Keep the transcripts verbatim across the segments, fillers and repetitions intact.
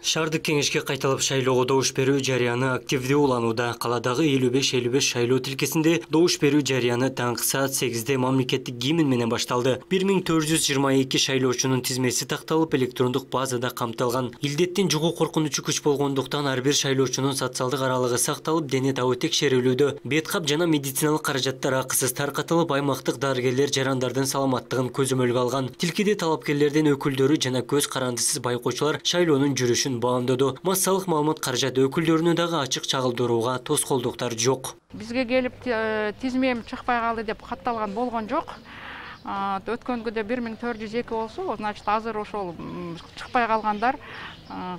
Шаардык кеңешке кайталап шайлоого добуш берүү жарыяны активдүү уланууда. Каладагы элүү беш элүү беш шайлоо тилкесинде добуш берүү жарыяны таңкы саат сегизде мамлекеттик гимн менен башталды. бир миң төрт жүз жыйырма эки шайлоочунун тизмеси такталып, электрондук базада камтылган. Илдеттин жугуу коркунучу күч болгондуктан ар бир шайлоочунун социалдык аралыгы сакталып, дене табы текшерилүүдө. Бет кап жана медициналык каражаттар акысыз таркатылып, аймактык дарыгерлер жарандардын саламаттыгын көзөмөлгө алган. Тилкеде талапкерлердин өкүлдөрү жана көз карандысыз байкоочулар шайлоонун жүрүшүн баамдоду. Массалык маалымат каражат өкүлдөрүнө дагы ачык чагылдырууга тоскоолдуктар жок. Бизге келип тизмем чыкпай калды деп катталган болгон жок. Өткөнгүдө бир миң төрт жүз эки болсо, значит азыр ошол чыкпай калгандар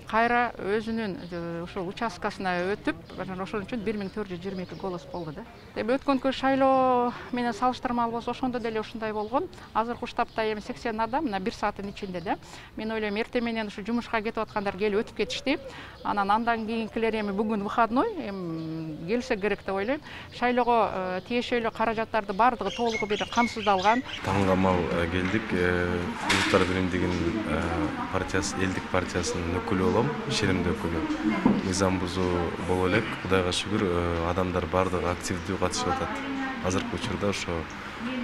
кайра өзүнүн ошол участкасына өтүп, ошон үчүн бир миң төрт жүз жыйырма эки голос болду да. Эми өткөнкү шайлоо менен салыштырмалуу болсо, ошондо деле ушундай болгон. Азыркы штабта эми сексен адам, мына бир сааттын ичинде да. Мен ойлойм, эртең менен ушу жумушка кетип аткандар келип өтүп кетишти. Анан андан кийинкилер эми бүгүн выходной, эми келсе керек деп ойлойм. Шайлоого тиешелүү каражаттарды бардыгы толугу бир камсыздалган. Таңгамал келдик. Улуттар биримдигинин партиясы, элдик партиясынын өкүлү болом, ишенимдүү өкүлү. Мыйзам бузуу боло элек, Кудайга шүгүр, адамдар бардыгы активдүү катышып атат. Азыркы учурда ошо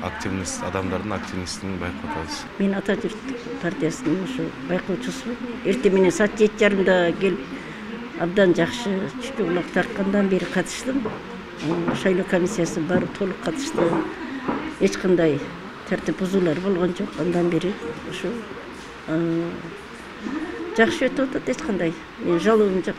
активность адамдардын активностун байкап атабыз. Мен Ата журт партиясынын ошо байкоочусумун. Эртең менен саат жети жарымда келип, абдан жакшы чүчү кулак тарткандан бери катыштым. Шайлоо комиссиясынын баары толук катышты. Эч кандай тартип бузуулар болгон жок. Андан бери ушу жакшы өтүп атат, эч кандай жалообум жок.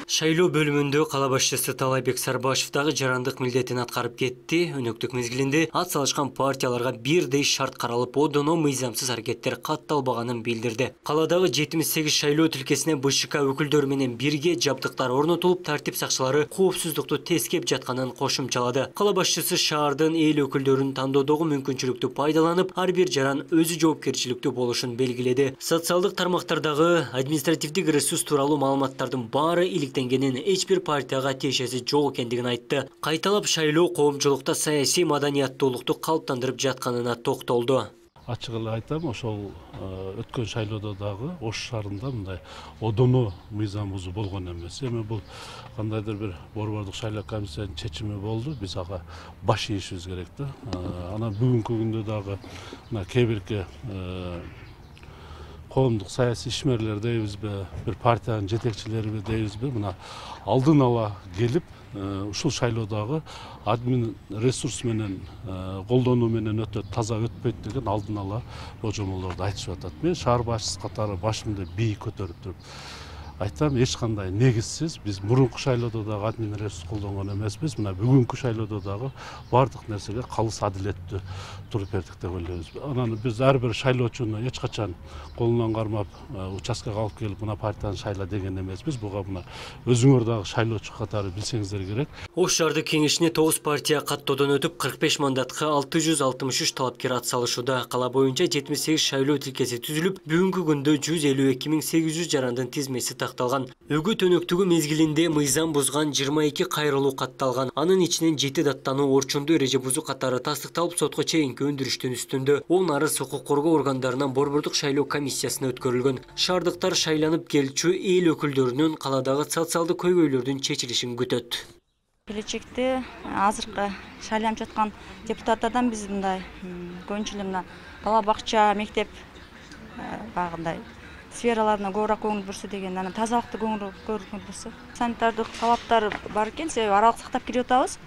Шайлоо бөлүмүндө кала башчысы Талайбек Сарбашев дагы жарандык милдетин аткарып кетти. Өнөктүк мезгилинде ат салышкан партияларга бирдей шарт каралып, одоно мыйзамсыз аракеттер катталбаганын билдирди. Каладагы жетимиш сегиз шайлоо тилкесине Б Ш К өкүлдөрү менен бирге жабдыктар орнотулуп, тартип сакчылары коопсуздукту тескеп жатканын кошумчалады. Кала башчысы шаардын эл өкүлдөрүн тандоодогу мүмкүнчүлүктү пайдаланып, ар бир жаран өзү жоопкерчиликтүү болушун белгиледи. Социалдык тармактардагы административдик ресурс тууралуу маалыматтардын баары иликтенгенин, эч бир партияга тиешеси жок экендигин айтты. Кайталап шайлоо коомчулукта саясий маданияттуулукту калыптандырып жатканына токтолду. Ачык эле айтам, ошол өткөн шайлоодо дагы Ош шаарында мындай одоно мыйзам бузуу болгон эмес. Эми бул кандайдыр бир борбордук шайлоо комиссиянын чечими болду. Биз ага баш ийишибиз керек да. Анан бүгүнкү күндө дагы мына кээ бирки коомдук саясий ишмерлер дейбизби, бир партиянын жетекчилериби дейбизби, мына алдын ала келип, ушул шайлоодагы админ ресурс менен колдонуу менен өтө таза өтпөйт деген алдын ала божомолдорду айтышып атат. Мен шаар башчысы катары башымды бийик көтөрүп туруп айтам, эч кандай негизсиз биз мурунку шайлоодо дагы админ ресурс колдонгон эмеспиз. Мына бүгүнкү шайлоодо дагы бардык нерсеге калыс адилеттүү туруп бердик деп ойлойбуз. Анан биз ар бир шайлоочуну эч качан колунан кармап участкага алып келип, мына партияны шайла деген эмеспиз. Буга мына өзүңөр дагы шайлоочу катары билсеңиздер керек. Ош шаардык кеңешине тогуз партия каттоодон өтүп, кырк беш мандатка алты жүз алтымыш үч талапкер ат салышууда. Кала боюнча жетимиш сегиз шайлоо тилкеси түзүлүп, бүгүнкү күндө жүз элүү эки миң сегиз жүз жарандын тизмеси такталган. Өгүт өнөктүгү мезгилинде мыйзам бузган жыйырма эки кайрылуу катталган. Анын ичинен жети даттануу орчундуу эреже бузуу катары тастыкталып, сотко чейинки өндүрүштүн үстүндө. Он арыз укук коргоо органдарынан борбордук шайлоо комиссиясына өткөрүлгөн. Шаардыктар шайланып келчү эл өкүлдөрүнүн каладагы социалдык көйгөйлөрдүн чечилишин күтөт. Келечекте азыркы шайланып жаткан депутаттардан биз мындай көбүнчө эле мына бала бакча, мектеп багындай сфераларына көбүрөөк көңүл бурса деген, анан тазалыкты көңүл бурса. Санитардык талаптар бар экен, себеби аралык сактап кирип атабыз.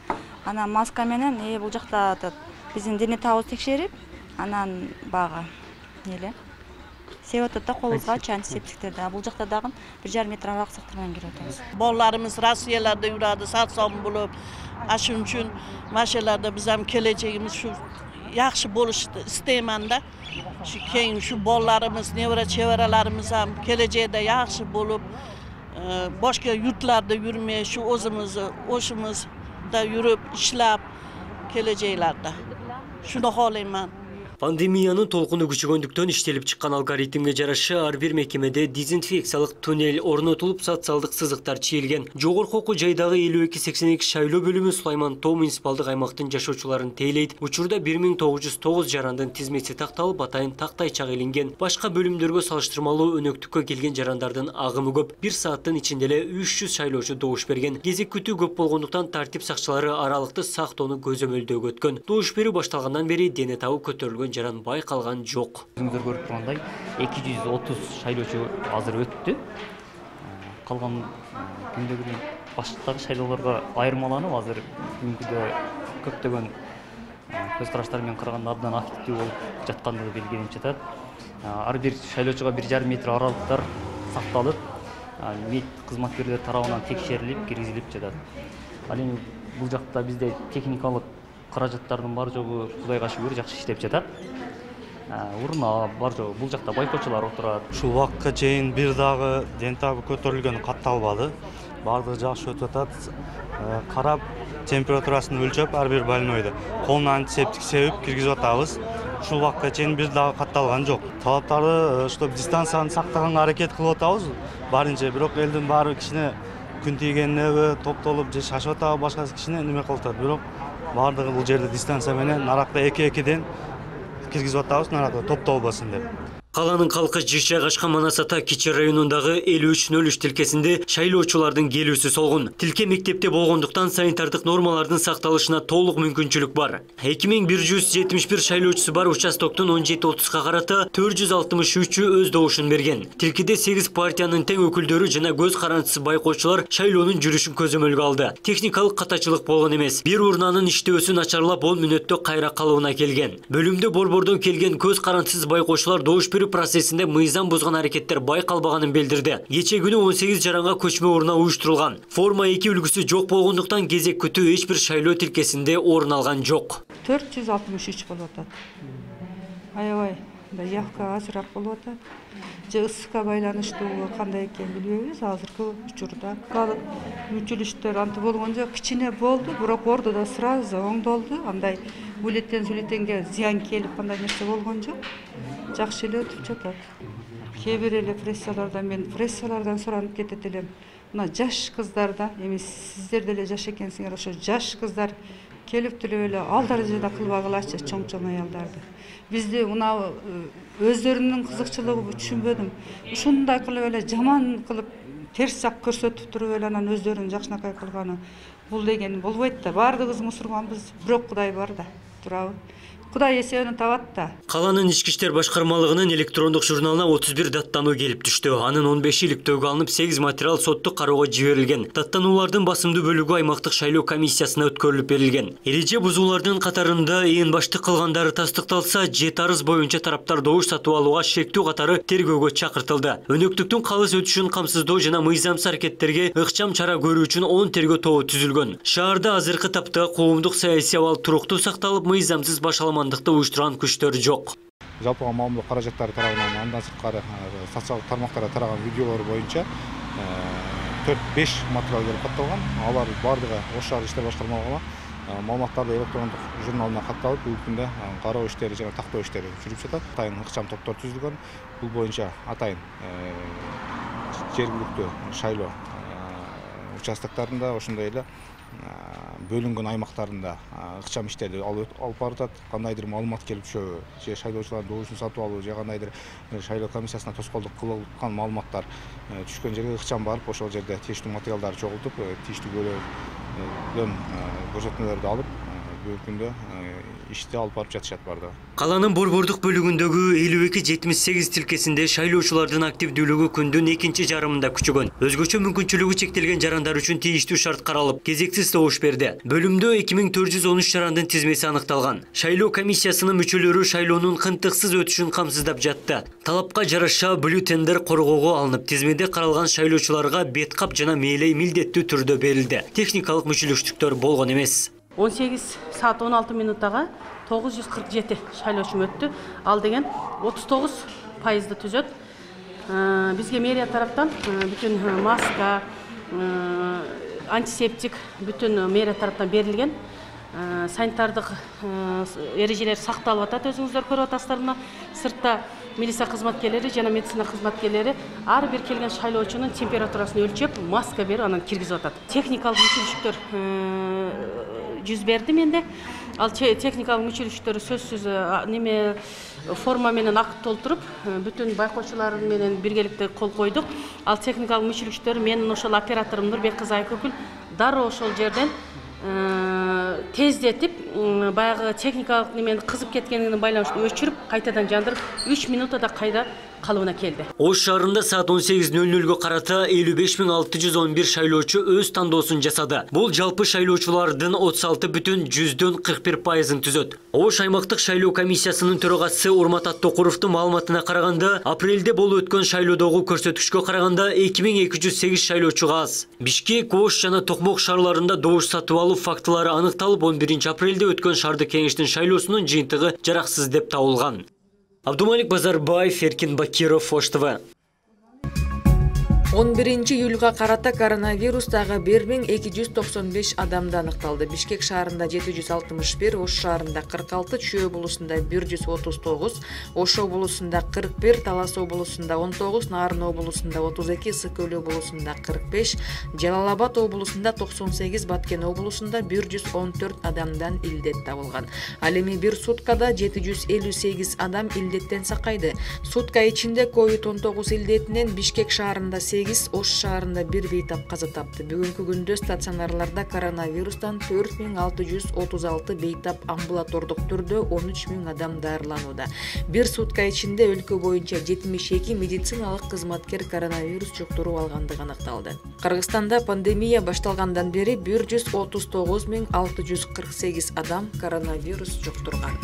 Анан маска менен э бул жакта биздин дене табыбызды текшерип, анан багы эле себеп атат да колубузга антисептиктерди. Бул жакта дагы бир жарым метр аралык сактоо менен кирип атабыз. Балдарыбыз Россияларда жүрөдү, сат-сом болуп, ашын үчүн машиналарда биз ham келечегибиз шу жакшы болушты истеймин да. Şu keyin şu bollarımız, nevra çevrelerimiz ham geleceğde yaxşı bolup, başka yurtlarda yürümeye, şu özümüzü, oşumuzda yürüp, işlep, geleceğlerde. Şunu halayım ben. Пандемиянын толкуну күчөгөндүктөн иштелип чыккан алгоритмге жараша ар бир мекемеде дезинфекциялык туннель орнотулуп, социалдык сызыктар чийилген. Жогорку окуу жайдагы элүү эки сексен эки шайлоо бөлүмү Сулайман Тоо муниципалдык аймактын жашоочуларын тейлейт. Учурда бир миң тогуз жүз тогуз жарандын тизмеси такталып, атайын тактайчак илинген. Башка бөлүмдөргө салыштырмалуу өнөктүккө келген жарандардын агымы көп. Бир сааттын ичинде эле үч жүз шайлоочу добуш берген. Кезек күтүү көп болгондуктан тартип сакчылары аралыкты сактоону көзөмөлдөөгө өткөн. Добуш берүү башталгандан бери дене табы көтөрүлгөн жаран байкалган жок. Өзүңүздөр көрүп тургандай эки жүз отуз шайлоочу азыр өттү. Калган күндөгү баштагы шайлоолорго айырмаланып, азыр бүгүнкүдө көптөгөн көз караштар менен караганда абдан активдүү болуп жаткандыгы белгиленип жатат. Ар бир шайлоочуга бир жарым метр аралыктар сакталып, мед кызматкерлер тарабынан текшерилип, киргизилип жатат. Ал эми бул жакта бизде техникалык каражаттардын бар жогу Кудайга шүгүр жакшы иштеп жатат. Урна бар жогу бул жакта байкоочулар отурат. Ушул убакытка чейин бир дагы ден табы көтөрүлгөн катталбады. Бардыгы жакшы өтүп атат. Карап, температурасын өлчөп, ар бир больнойду колуна антисептик себип киргизип атабыз. Ушул убакытка чейин бир дагы катталган жок. Талаптарды, чтобы дистанцияны сактаганга аракет кылып атабыз. Барынча, бирок элдин баары кичине күн тийгенинеби топтолуп же шашып атабы, башкасы кичине неме кылып атат. Бирок бардыгы бул жерде дистанция менен наракта эки-экиден киргизип атабыз, наракта топтолбосун деп. Каланын калкы жайгашкан Манас ата Кичи районундагы элүү үч нөл үч тилкесинде шайлоочулардын келүүсү солгун. Тилке мектепте болгондуктан санитардык нормалардын сакталышына толук мүмкүнчүлүк бар. эки миң бир жүз жетимиш бир шайлоочусу бар участоктун он жети отузга карата төрт жүз алтымыш үчү өз добушун берген. Тилкеде сегиз партиянын тең өкүлдөрү жана көз карандысыз байкоочулар шайлоонун жүрүшүн көзөмөлгө алды. Техникалык катачылык болгон эмес. Бир урнанын иштөөсү начарлап он мүнөттө кайра калыбына келген. Бөлүмдө борбордон келген көз карандысыз байкоочулар добуш берүү процессинде мыйзам бузган аракеттер байкалбаганын билдирди. Кече күнү он сегиз жаранга көчмө урна уюштурулган. Форма эки үлгүсү жок болгондуктан кезек күтүү эч бир шайлоо тилкесинде орун алган жок. төрт жүз алтымыш үч болуп атат. Аябай явка азыраак болуп атат. Же ысыкка байланыштуу кандай экенин билбейбиз азыркы учурда. Калып мүчүлүштөр анты болгон жок, кичине болду, бирок ортодо сразу оңдолду. Андай бюллетен сүлетенге зыян келип кандай нерсе болгон жок. Жакшы эле өтүп жатат. Кээ бир эле прессалардан мен прессалардан суранып кетет элем. Мына жаш кыздарда, эми сиздер деле жаш экенсиңер, ошо жаш кыздар келип туруп эле ал даражада кылбагылачы чоң-чоң аялдарды. Бизди мына өздөрүнүн кызыкчылыгы түшүнбөдүм. Ушундай кылып эле жаман кылып терс жак көрсөтүп туруп эле анан өздөрүнүн жакшынакай кылганы бул деген болбойт да. Бардыгыбыз мусурманбыз, бирок Кудай бар да, турабы. Кудай эсебин табат да. Каланын ички иштер башкармалыгынын электрондук журналына отуз бир даттануу келип түштү. Анын он беши иликтөөгө алынып, сегиз материал соттук кароого жиберилген. Даттануулардын басымдуу бөлүгү аймактык шайлоо комиссиясына өткөрүлүп берилген. Эреже бузуулардын катарында ээн баштык кылгандары тастыкталса, жети арыз боюнча тараптар добуш сатып алууга шектүү катары тергөөгө чакыртылды. Өнөктүктүн калыс өтүшүн камсыздоо жана мыйзамсыз аракеттерге ыкчам чара көрүү үчүн он тергөө тобу түзүлгөн. Шаарда азыркы тапта коомдук саясий абал туруктуу сакталып, мыйзамсыз башаламандыкты уюштурган күчтөр жок. Жалпыга маамиле каражаттары тарабынан андан сырткары социалдык тармактарда тараган видеолор боюнча төрт беш материал келип катталган. Алар бардыгы Ош шаардык иштер башкармалыгына маалыматтарды электрондук журналына катталып, бүгүнкү күндө кароо иштери жана тактоо иштери жүрүп жатат. Атайын ыкчам топтор түзүлгөн. Бул боюнча атайын жергиликтүү шайлоо участоктарында, ошондой эле бөлүнгөн аймактарында ыкчам иштерди алып баратат. Кандайдыр маалымат келип түшөбү, же шайлоочулардын добушун сатып алуу, же кандайдыр шайлоо комиссиясына тоскоолдук кылган маалыматтар түшкөн жерге ыкчам барып, ошол жерде тийиштүү материалдарды чогултуп, тийиштүү бөлөдөн көрсөтмөлөрдү алып, бүгүнкү күндө ишти алып барып жатышат бардыгы. Каланын борбордук бөлүгүндөгү элүү эки жетимиш сегиз тилкесинде шайлоочулардын активдүүлүгү күндүн экинчи жарымында күчөгөн. Өзгөчө мүмкүнчүлүгү чектелген жарандар үчүн тийиштүү шарт каралып, кезексиз добуш берди. Бөлүмдө эки миң төрт жүз он үч жарандын тизмеси аныкталган. Шайлоо комиссиясынын мүчөлөрү шайлоонун кынтыксыз өтүшүн камсыздап жатты. Талапка жараша бюллетендер коргоого алынып, тизмеде каралган шайлоочуларга бет кап жана мээлей милдеттүү түрдө берилди. Техникалык мүчөлүштүктөр болгон эмес. он сегиз саат он алты минуттага тогуз жүз кырк жети шайлоочу өттү. Ал деген отуз тогуз пайызды түзөт. Бизге мэрия тараптан бүтүн маска, антисептик бүтүн мэрия тараптан берилген. санитардык эрежелер сакталып атат. Өзүңүздөр көрүп атасыздар мына сыртта милиция кызматкерлери жана медицина кызматкерлери ар бир келген шайлоочунун температурасын өлчөп, маска берип анан киргизип атат. Техникалык мүчүлүштөр жүз берди менде. Ал техникалык мүчүлүштөр сөзсүз неме форма менен акт толтуруп, бүтүн байкоочулар менен биргеликте кол койдук. Ал техникалык мүчүлүштөр менин ошол операторум Нурбек кызы Айкөкүл дароо ошол жерден тездетип, баягы техникалык немени кызып кеткенине байланыштуу өчүрүп, кайтадан жандырып, үч минутада кайда калыбына келди. Ош шаарында саат он сегиз нөл нөлгө карата элүү беш миң алты жүз он бир шайлоочу өз тандоосун жасады. Бул жалпы шайлоочулардын отуз алты бүтүн жүздөн кырк бир пайызын түзөт. Ош аймактык шайлоо комиссиясынын төрагасы Урмат Аттокуровдун маалыматына караганда, апрелде болуп өткөн шайлоодогу көрсөткүчкө караганда эки миң эки жүз сегиз шайлоочуга аз. Бишкек, Ош жана Токмок шаарларында добуш сатып алуу фактылары аныкталып, он биринчи апрелде өткөн шаардык кеңештин шайлоосунун жыйынтыгы жараксыз деп табылган. Абдумалик Базарбаев, Эркин Бакиров, Ош ТВ. он биринчи июлга карата коронавирус дагы бир миң эки жүз токсон беш адамда аныкталды. Бишкек шаарында жети жүз алтымыш бир, Ош шаарында кырк алты, Чүй облусунда бир жүз отуз тогуз, Ош облусунда кырк бир, Талас облусунда он тогуз, Нарын облусунда отуз эки, Ысык Өлө облусунда кырк беш, Жалал Абад облусунда токсон сегиз, Баткен облусунда бир жүз он төрт адамдан илдет табылган. Ал эми бир суткада жети жүз элүү сегиз адам илдеттен сакайды. Сутка ичинде ковид он тогуз илдетинен Бишкек шаарында сегиз, Ош шаарында бир бейтап каза тапты. Бүгүнкү күндө стационарларда коронавирустан төрт миң алты жүз отуз алты бейтап, амбулатордук түрдө он үч миң адам дарыланууда. Бир сутка ичинде өлкө боюнча жетимиш эки медициналык кызматкер коронавирус жуктуруп алгандыгы аныкталды. Кыргызстанда пандемия башталгандан бери бир жүз отуз тогуз миң алты жүз кырк сегиз адам коронавирус жуктурган.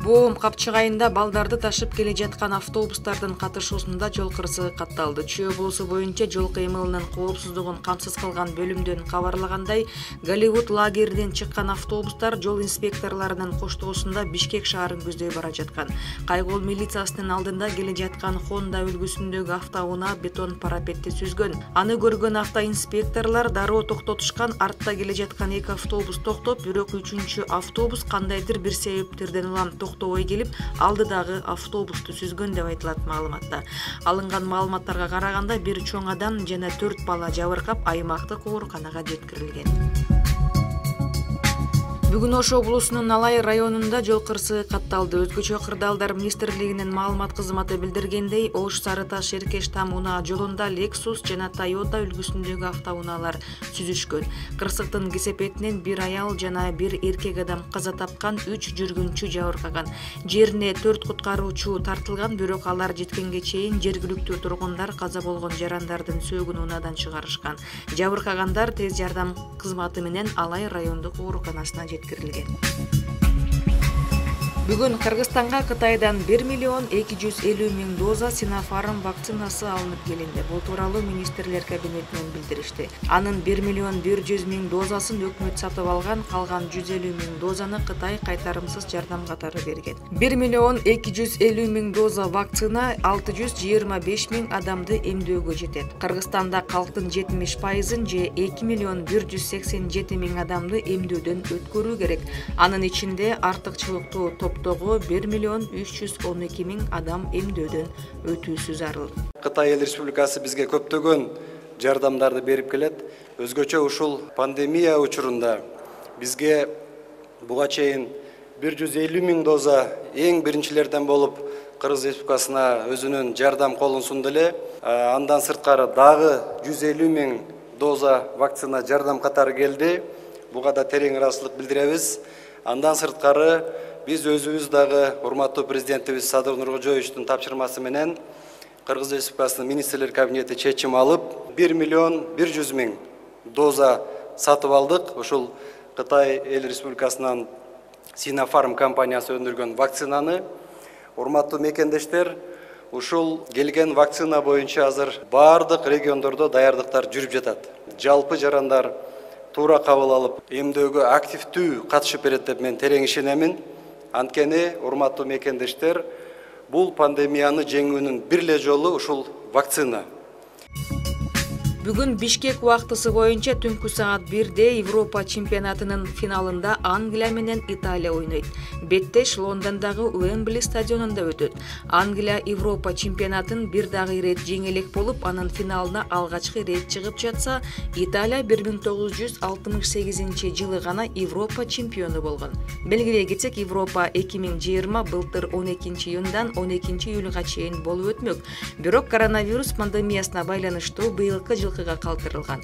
Боом Капчыгайында балдарды ташып келе жаткан автобустардын катышуусунда жол кырсыгы катталды. Чүй облусу боюнча жол кыймылынын коопсуздугун камсыз кылган бөлүмдөн кабарлагандай, Голливуд лагеринен чыккан автобустар жол инспекторлорунун коштоосунда Бишкек шаарын көздөй бара жаткан. Кайгол милициясынын алдында келе жаткан Honda үлгүсүндөгү автоунаа бетон парапетти сүзгөн. Аны көргөн автоинспекторлор дароо токтотушкан, артта келе жаткан эки автобус токтоп, бирок үчүнчү автобус кандайдыр бир себептерден улам токтобой келип, алдыдагы автобусту сүзгөн деп айтылат маалыматта. Алынган маалыматтарга караганда бир чоң адам жана төрт бала жабыркап аймактык ооруканага жеткирилген. Бүгүн Ош облусунун Алай районунда жол кырсыгы катталды. Өзгөчө кырдаалдар министрлигинин маалымат кызматы билдиргендей, Ош Сары Таш Эркеш Тамунаа жолунда Lexus жана Toyota үлгүсүндөгү автоунаалар сүзүшкөн. Кырсыктын кесепетинен бир аял жана бир эркек адам каза тапкан, үч жүргүнчү жабыркаган. Жерине төрт куткаруучу тартылган, бирок алар жеткенге чейин жергиликтүү тургундар каза болгон жарандардын сөөгүн унаадан чыгарышкан. Жабыркагандар тез жардам кызматы менен Алай райондук ооруканасына жеткирилген. Бүгүн Кыргызстанга Кытайдан бир миллион эки жүз элүү миң доза Sinopharm вакцинасы алынып келинди. Бул тууралуу министрлер кабинетинен билдиришти. Анын бир миллион бир жүз миң дозасын өкмөт сатып алган, калган жүз элүү миң дозаны Кытай кайтарымсыз жардам катары берген. бир миллион эки жүз элүү миң доза вакцина алты жүз жыйырма беш миң адамды эмдөөгө жетет. Кыргызстанда калктын жетимиш пайызын же эки миллион бир жүз сексен жети миң адамды эмдөөдөн өткөрүү керек. Анын ичинде артыкчылыктуу топтогу бир миллион үч жүз он эки миң адам эмдөөдөн өтүүсү зарыл. Кытай Эл Республикасы бизге көптөгөн жардамдарды берип келет. Өзгөчө ушул пандемия учурунда бизге буга чейин бир жүз элүү миң доза эң биринчилерден болуп Кыргыз Республикасына өзүнүн жардам колун сунду эле. Андан сырткары дагы жүз элүү миң доза вакцина жардам катары келди. Буга да терең ыраазычылык билдиребиз. Андан сырткары биз өзүбүз дагы урматтуу президентибиз Садыр Нуркожоевичтин тапшырмасы менен Кыргыз Республикасынын министрлер кабинети чечим алып, бир миллион бир жүз миң доза сатып алдык. Ушул Кытай Эл Республикасынын Sinopharm компаниясы өндүргөн вакцинаны. Урматтуу мекендештер, ушул келген вакцина боюнча азыр бардык региондордо даярдыктар жүрүп жатат. Жалпы жарандар туура кабыл алып, эмдөөгө активдүү катышып берет деп мен терең ишенемин. Анткени, урматтуу мекендештер, бул пандемияны жеңүүнүн бир эле жолу ушул вакцина. Бүгүн Бишкек убактысы боюнча түнкү саат бирде Европа чемпионатынын финалында Англия менен Италия ойнойт. Беттеш Лондондогу Уэмбли стадионунда өтөт. Англия Европа чемпионатын бир дагы ирет жеңе элек болуп, анын финалына алгачкы ирет чыгып жатса, Италия бир миң тогуз жүз алтымыш сегизинчи жылы гана Европа чемпиону болгон. Белгилей кетсек, Европа эки миң жыйырма былтыр он экинчи июндан он экинчи июлга чейин болуп өтмөк. Бирок коронавирус пандемиясына байланыштуу быйылкы жылкыга калтырылган.